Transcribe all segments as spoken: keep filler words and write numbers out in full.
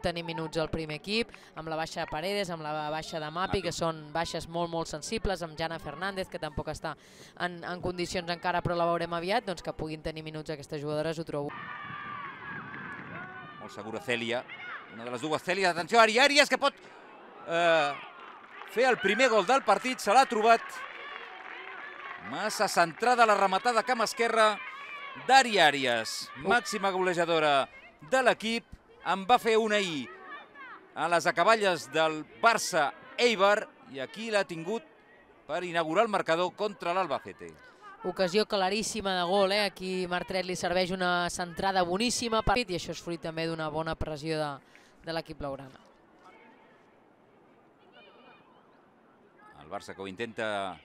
tenir minuts al primer equip, amb la baixa de Paredes, amb la baixa de Mapi, que són baixes molt, molt sensibles, amb Jana Fernández, que tampoc està en, en condicions encara, però la veurem aviat, doncs que puguin tenir minuts aquestes jugadores, ho trobo. Molt segura Cèlia, una de les dues Cèlia, atenció, Ari Àries, que pot eh, fer el primer gol del partit, se l'ha trobat. Massa centrada la rematada camp esquerra d'Ari Àries, màxima golejadora de l'equip, en va fer una ahir a les acaballes del Barça Eibar i aquí l'ha tingut per inaugurar el marcador contra l'Albacete. Ocasió claríssima de gol, eh? Aquí Martret li serveix una centrada boníssima i això és fruit també d'una bona pressió de, de l'equip blaugrana. El Barça que ho intenta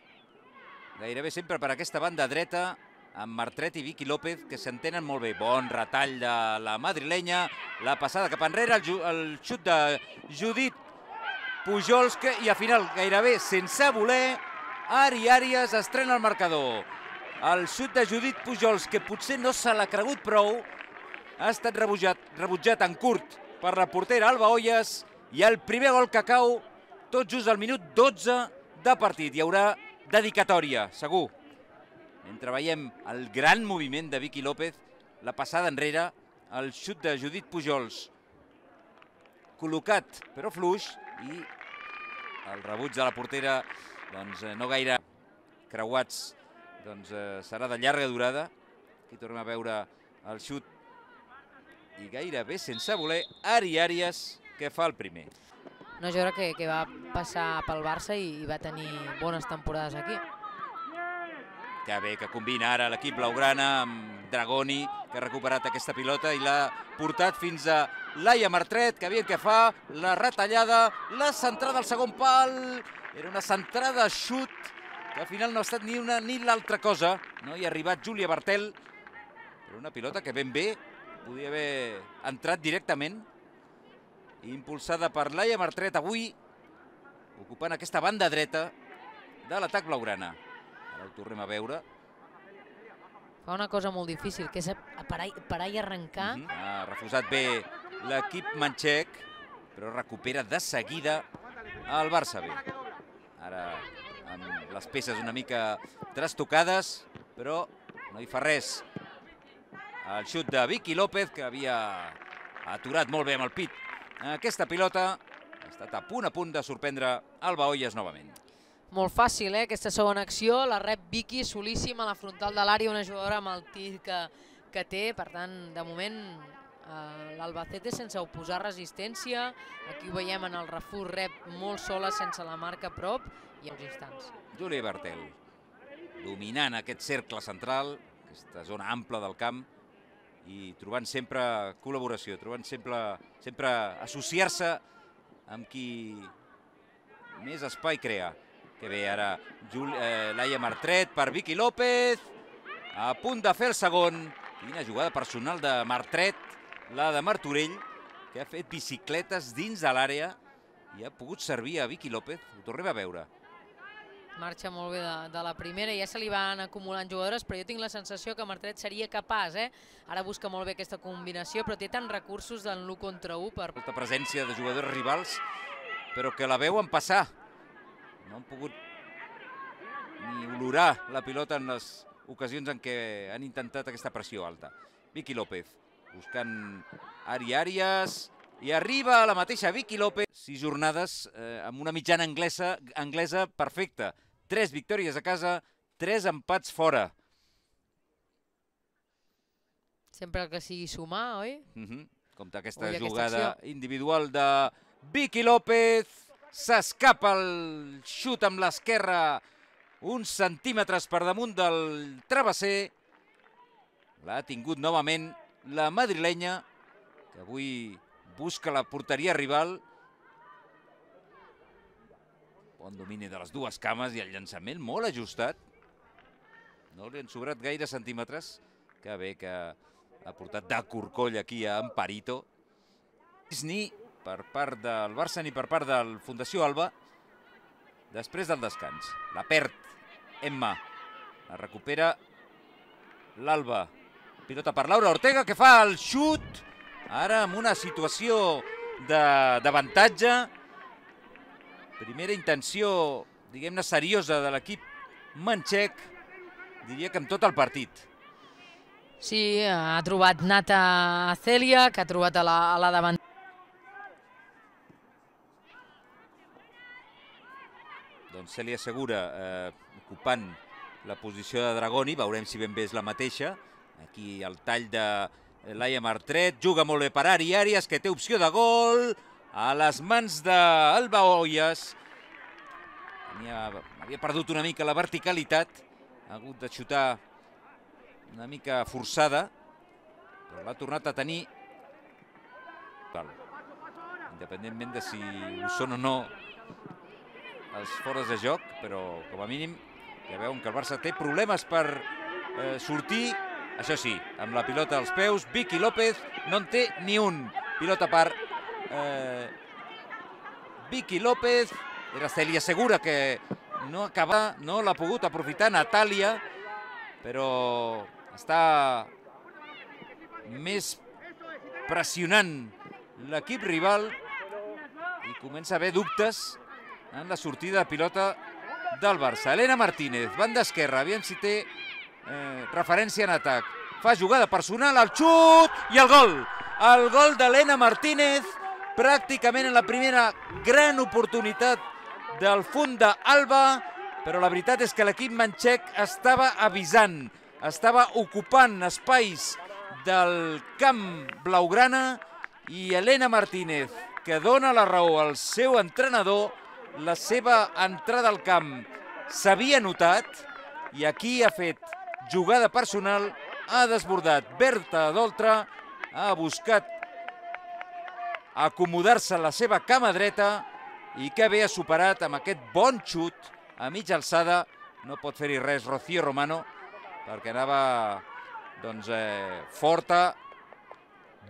gairebé sempre per aquesta banda dreta, amb Martret i Vicky López, que s'entenen molt bé. Bon retall de la madrilenya, la passada cap enrere, el, el xut de Judit Pujols, que, i al final, gairebé sense voler, Ari Àries estrena el marcador. El xut de Judit Pujols, que potser no se l'ha cregut prou, ha estat rebutjat, rebutjat en curt per la portera Alba Olles, i el primer gol que cau tot just al minut dotze de partit. Hi haurà dedicatòria, segur. Mentre veiem el gran moviment de Vicky López, la passada enrere, el xut de Judit Pujols, col·locat però fluix, i el rebuig de la portera doncs, no gaire creuats, doncs, eh, serà de llarga durada. Aquí tornem a veure el xut i gairebé sense voler Ari Àries, que fa el primer. Una jugadora que, que va passar pel Barça i, i va tenir bones temporades aquí. Que bé que combina ara l'equip blaugrana amb Dragoni, que ha recuperat aquesta pilota i l'ha portat fins a Laia Martret, que aviam què fa, la retallada, la centrada al segon pal, era una centrada xut, que al final no ha estat ni una ni l'altra cosa, no hi ha arribat Júlia Bartel, però una pilota que ben bé podia haver entrat directament, impulsada per Laia Martret, avui ocupant aquesta banda dreta de l'atac blaugrana. Ara ho tornem a veure. Fa una cosa molt difícil, que és parar, parar i arrencar. Uh -huh. Ha refusat bé l'equip manxec, però recupera de seguida el Barça B. Ara amb les peces una mica trastocades, però no hi fa res. El xut de Vicky López, que havia aturat molt bé amb el pit aquesta pilota, ha estat a punt a punt de sorprendre Alba Olles novament. Molt fàcil, eh, aquesta segona acció, la rep Vicky, solíssima a la frontal de l'àrea, una jugadora amb el tir que, que té, per tant, de moment, eh, l'Albacete sense oposar resistència, aquí ho veiem en el refús, rep molt sola, sense la marca a prop, i en uns instants. Júlia Bartel, dominant aquest cercle central, aquesta zona ampla del camp, i trobant sempre col·laboració, trobant sempre, sempre associar-se amb qui més espai crea. Que bé, ara eh, Laia Martret per Vicky López, a punt de fer el segon. Quina jugada personal de Martret, la de Martorell, que ha fet bicicletes dins de l'àrea i ha pogut servir a Vicky López. Ho tornem a veure. Marxa molt bé de, de la primera, ja se li van acumulant jugadores, però jo tinc la sensació que Martret seria capaç, eh? Ara busca molt bé aquesta combinació, però té tants recursos en l'u contra u per... Molta presència de jugadors rivals, però que la veuen passar. No han pogut ni olorar la pilota en les ocasions en què han intentat aquesta pressió alta. Vicky López buscant Ari Àries i arriba a la mateixa Vicky López. Sis jornades eh, amb una mitjana anglesa, anglesa perfecta. Tres victòries a casa, tres empats fora. Sempre que sigui sumar, oi? Uh -huh. Compte aquesta Ui, jugada aquesta individual de Vicky López. S'escapa el xut amb l'esquerra uns centímetres per damunt del travesser. L'ha tingut novament la madrilenya, que avui busca la porteria rival. Bon domini de les dues cames i el llançament molt ajustat. No li han sobrat gaire centímetres. Que bé que ha portat de corcoll aquí a Amparito. Ni per part del Barça ni per part del Fundació Alba després del descans. La perd Emma, la recupera l'Alba. Pilota per Laura Ortega, que fa el xut, ara amb una situació d'avantatge. Primera intenció, diguem-ne, seriosa de l'equip manxec, diria que amb tot el partit. Sí, ha trobat Nata Cèlia, que ha trobat a la, a la davant. Doncs Cèlia Segura eh, ocupant la posició de Dragoni, veurem si ben bé és la mateixa. Aquí el tall de Laia Martret, juga molt bé per Ari Àrias, que té opció de gol a les mans d'Alba Hoyas. Havia perdut una mica la verticalitat, ha hagut de xutar una mica forçada, però l'ha tornat a tenir, independentment de si ho són o no els fores de joc, però com a mínim ja veuen que el Barça té problemes per eh, sortir, això sí, amb la pilota als peus. Vicky López no en té ni un. Pilota per eh, Vicky López, era Cèlia Segura que no acaba, no l'ha pogut aprofitar Natàlia, però està més pressionant l'equip rival i comença a haver dubtes en la sortida de pilota del Barça. Elena Martínez, banda esquerra, aviam si té eh, referència en atac. Fa jugada personal, el xut i el gol. El gol d'Elena Martínez, pràcticament en la primera gran oportunitat del fund d'Alba, però la veritat és que l'equip manxec estava avisant, estava ocupant espais del camp blaugrana i Elena Martínez, que dona la raó al seu entrenador, la seva entrada al camp s'havia notat i aquí ha fet jugada personal, ha desbordat Berta Doltra, ha buscat acomodar-se a la seva cama dreta i que bé ha superat amb aquest bon xut a mitja alçada. No pot fer-hi res Rocío Romano perquè anava doncs, eh, forta,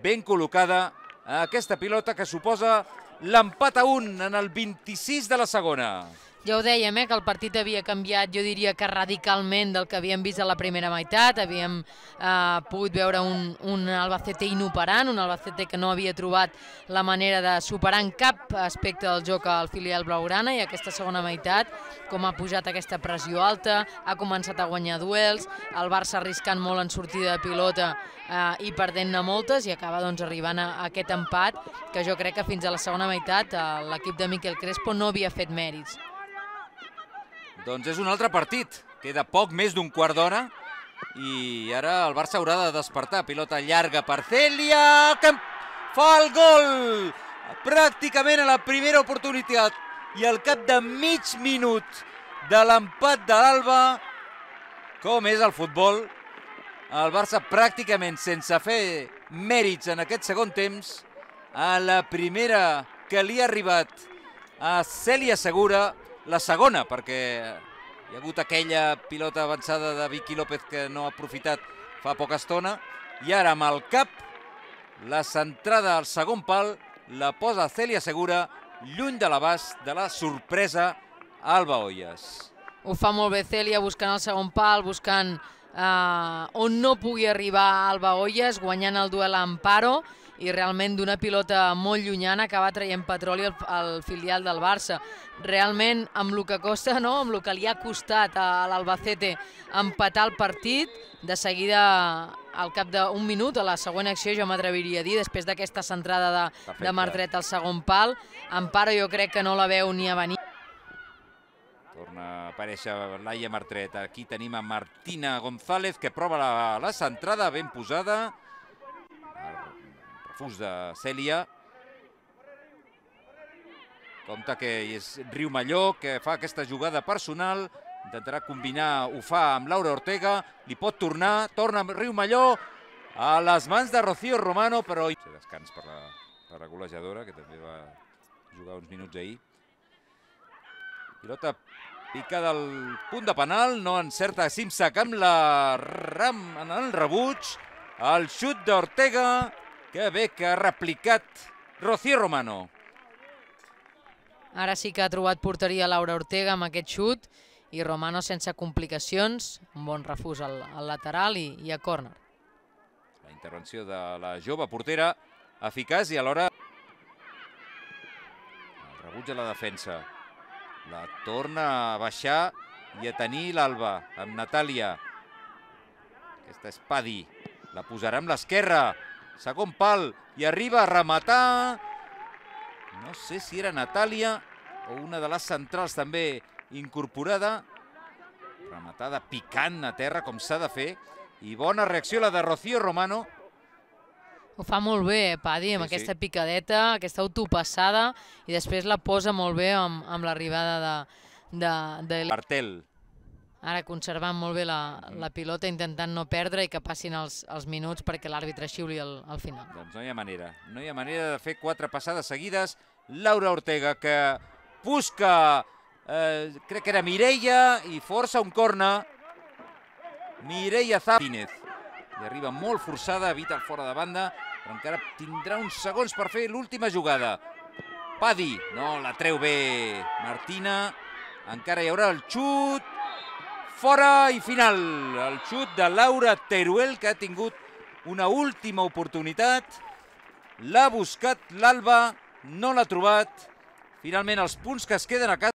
ben col·locada a aquesta pilota que suposa l'empat a un en el vint-i-sis de la segona. Ja ho dèiem, eh, que el partit havia canviat, jo diria que radicalment del que havíem vist a la primera meitat. Havíem eh, pogut veure un, un Albacete inoperant, un Albacete que no havia trobat la manera de superar en cap aspecte del joc al filial blaugrana, i aquesta segona meitat, com ha pujat aquesta pressió alta, ha començat a guanyar duels, el Barça arriscant molt en sortida de pilota eh, i perdent-ne moltes, i acaba doncs, arribant a, a aquest empat que jo crec que fins a la segona meitat eh, l'equip de Miquel Crespo no havia fet mèrits. Doncs és un altre partit, queda poc més d'un quart d'hora i ara el Barça haurà de despertar. Pilota llarga per Cèlia, que fa el gol pràcticament a la primera oportunitat i al cap de mig minut de l'empat de l'Alba. Com és el futbol, el Barça pràcticament sense fer mèrits en aquest segon temps, a la primera que li ha arribat a Cèlia Segura, la segona, perquè hi ha hagut aquella pilota avançada de Vicky López que no ha aprofitat fa poca estona, i ara amb el cap la centrada al segon pal la posa Cèlia Segura, lluny de l'abast de la sorpresa Alba Hoyas. Ho fa molt bé Cèlia, buscant el segon pal, buscant eh, on no pugui arribar Alba Hoyas, guanyant el duel a Amparo, i realment d'una pilota molt llunyana acaba traient petroli al, al filial del Barça. Realment, amb el que costa, no? Amb el que li ha costat a l'Albacete empatar el partit, de seguida, al cap d'un minut, a la següent acció, jo m'atreviria a dir, després d'aquesta centrada de, de Martret al segon pal, Amparo jo crec que no la veu ni a venir. Torna a aparèixer Laia Martret. Aquí tenim a Martina González, que prova la, la centrada ben posada. Refús de Cèlia. Compte que és Riumalló, que fa aquesta jugada personal. Intentarà combinar, ho fa amb Laura Ortega. Li pot tornar, torna Riumalló a les mans de Rocío Romano, però... Descans per la, per la golejadora, que també va jugar uns minuts ahir. Pilota picada al punt de penal, no encerta Simsac amb la ram en el rebuig. El xut d'Ortega, que bé que ha replicat Rocío Romano. Ara sí que ha trobat porteria Laura Ortega amb aquest xut, i Romano sense complicacions, un bon refús al, al lateral i, i a córner. La intervenció de la jove portera, eficaç i alhora rebutja la defensa. La torna a baixar i a tenir l'Alba amb Natàlia. Aquesta és Padi. La posarà amb l'esquerra. Segon pal i arriba a rematar. No sé si era Natàlia o una de les centrals també incorporada. Rematada picant a terra com s'ha de fer. I bona reacció la de Rocío Romano. Ho fa molt bé, eh, Padi, amb Sí, sí. aquesta picadeta, aquesta autopassada, i després la posa molt bé amb, amb l'arribada de, de, de... Bartel. Ara conservant molt bé la, la pilota, intentant no perdre i que passin els, els minuts perquè l'àrbitre xiuli al, al final. Doncs no hi ha manera. No hi ha manera de fer quatre passades seguides. Laura Ortega, que busca, eh, crec que era Mireia, i força un corna. Mireia Zapínez. I arriba molt forçada, evita el fora de banda, però encara tindrà uns segons per fer l'última jugada. Padi, no, la treu bé Martina. Encara hi haurà el xut. Fora i final. El xut de Laura Teruel, que ha tingut una última oportunitat. L'ha buscat l'Alba, no l'ha trobat. Finalment, els punts que es queden a casa